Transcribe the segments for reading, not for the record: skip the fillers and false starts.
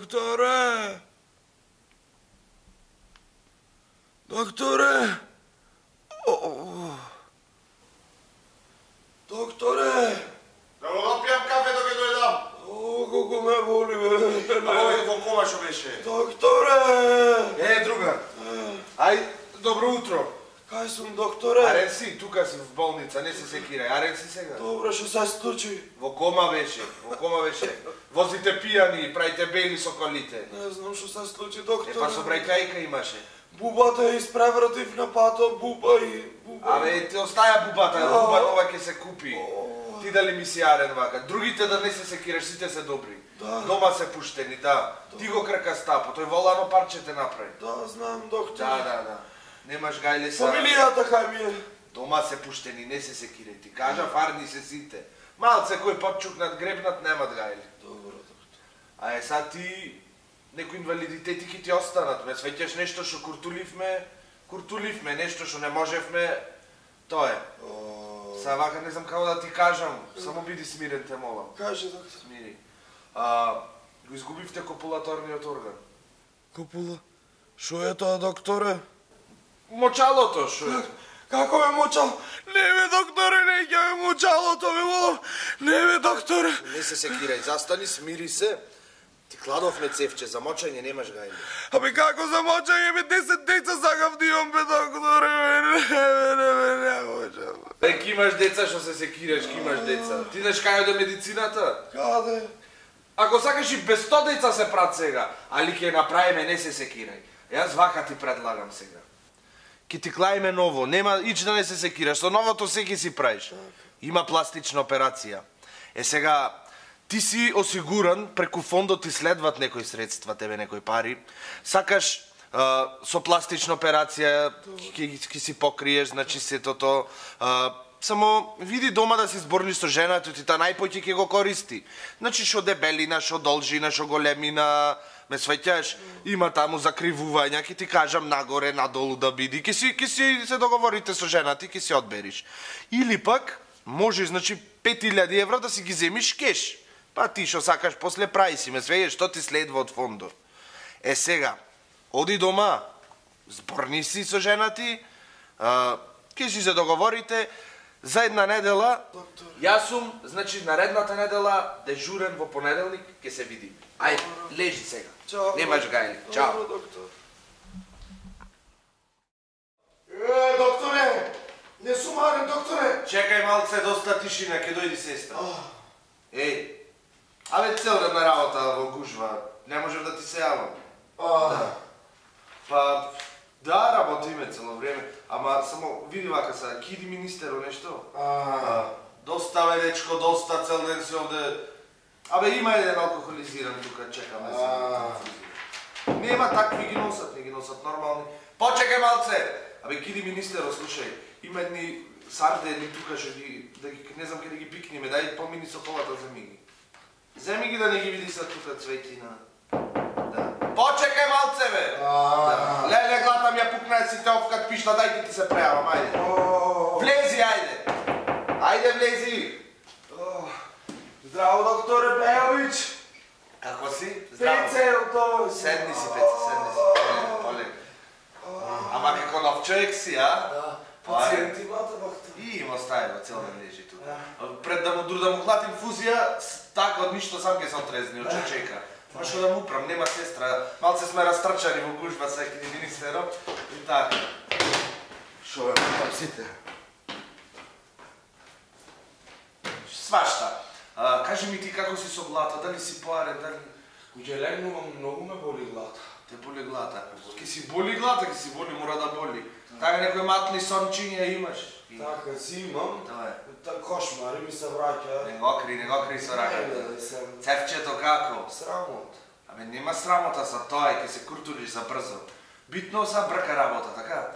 Докторе! Докторе! Докторе! Да го допијам кафе док ќе дојдам. Колку ме боли, бе. Во кома што беше? Докторе! Другар. Ај, добро утро. Кај сум, докторе? Арен си, тука си в болница, не се секирај. Арен си сега. Добре, што се случи? Во кома беше, Возите пијани, правите бели со колите. Не знам што се случи, докторе. Па со брајкајка имаше. Бубата ја испревратив на патот, буба и... Абе, ти остаја бубата, буба нова ќе се купи. Ти дали ми си Арен вака. Другите да не се секираш, сите се добри. Дома се пуштени, да. Ти го крка стапо, тој волано парче те направи. Да, знам, докторе. Да. Немаш гајле са... Фамилијата кај ми е? Дома се пуштени, не се секирај. Ти кажа, фарни се сите. Малце кој пат чукнат, гребнат, немат гајле. Добро, доктор. А сад ти... Некои инвалидитети ќе ти останат, ме свеќаш нешто што куртуливме, нешто што не можевме, тоа е. Са вака не знам како да ти кажам, само биди смирен те молам. Кажи, доктор. Смири. Го изгубивте копулаторниот орган. Копула? Шо е тоа, докторе? Мочалото, шо е? Како ме мочал? Не бе, докторе, не ќе ме мочалото, ме молам. Не бе, докторе. Не се секирај, застани, смири се. Ти кладовме цевче, за мочање немаш гајле. Абе како за мочање, бе, 10 деца сакав да имам, бе, докторе, не можам. Бе, ки имаш деца што се секираш, ки имаш деца. Ти знаеш кај оде медицината? Каде? Ако сакаш и без 100 деца се прат сега, али ќе направиме, не се секирај. Јас вака ти предлагам сега. Ки ти клаиме ново, нема ич да не се секираш, со новото се ќе си правиш. Има пластична операција. Сега, ти си осигуран, преку фондот ти следват некои средства, тебе некои пари. Сакаш со пластична операција ќе си покриеш, значи сетото. Само види дома да си зборни со жената, ти та најпоќе ќе го користи. Значи шо дебелина, шо должина, шо големина, ме свеќаш, има таму закривувања, ќе ти кажам нагоре, надолу да биди, ќе си се договорите со жената и ќе си одбериш. Или пак, може, значи, 5000 евра да си ги земиш кеш. Па ти шо сакаш, после прави си, ме свејаш, што ти следва од фондот. Сега, оди дома, зборни си со жената ти, ќе си се договорите, за една недела, јас сум, значи, наредната недела, дежурен во понеделник, ќе се видим. Ајде, лежи сега. Чао. Немаш гајли. Чао. Добро, доктор. Докторе! Не сум Арен, докторе! Чекај малце, доста тишина, ќе дојди сестра. Абе, цел ден на работа во гужва, не можев да ти се јавам. Па, да, работиме цело време, ама само види вака са, киди министеро нешто. Доста бе, дечко, доста, цел ден си овде. Абе, има еден алкохолизиран тука, чекаме се. Нема такви, не ги носат нормални. Почекај малце! Абе, киди министеро, слушај, има едни сардени тука, што ги, не знам каде ги пикниме, дај помини со колата, земи ги. Земи ги да не ги види са тука цветина. Почекај малце, бе! Леле, глатам ја пукна си те овкат пишта, дај ти се прејавам, ајде. Влези, ајде! Ајде, влези! Здраво, докторе Бејович! Како си? Здраво. Пецелто! Седни си, Пеци, седни си. Полег. Ама како нов човек си, а? Да. Пациент имате, доктор? И има стајава, цел ден лежи тука. Пред да му клатим фузија, така од ништо сам ке се отрезни, од чека. Ма шо да му управ, нема сестра. Малце сме растрчани во гужба са екиди министеро. И така. Шо бе, мутам сите. Свашта. Кажи ми ти како си со глата, дали си поарен, дали... Куќе легнувам, многу ме боли глата. Те боли глата. Ке си боли глата, ке си боли, мора да боли. Така некои матни сончиња имаш. Така си имам. Тоа е. Кошмари ми се враќаат. Не го кри со раката. Цевчето како? Срамот. Абе, нема срамота са тоа, ке се куртулиш за брзо. Битно са брка работа, така?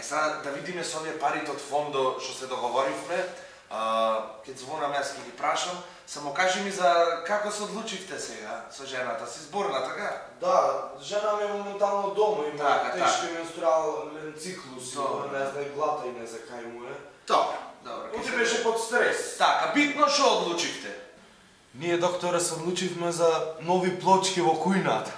Сега да видиме со овие парите од фондо што се договоривме, ќе звонам јас ќе ги прашам, само кажи ми за како се одлучивте сега со жената, си зборна, така? Да, жена ми е моментално дома, има тешки менструален циклус, не знае глата и не знае кај му е. Добро. Оти беше под стрес. Така, битно што одлучивте? Ние, докторе, се одлучивме за нови плочки во кујната.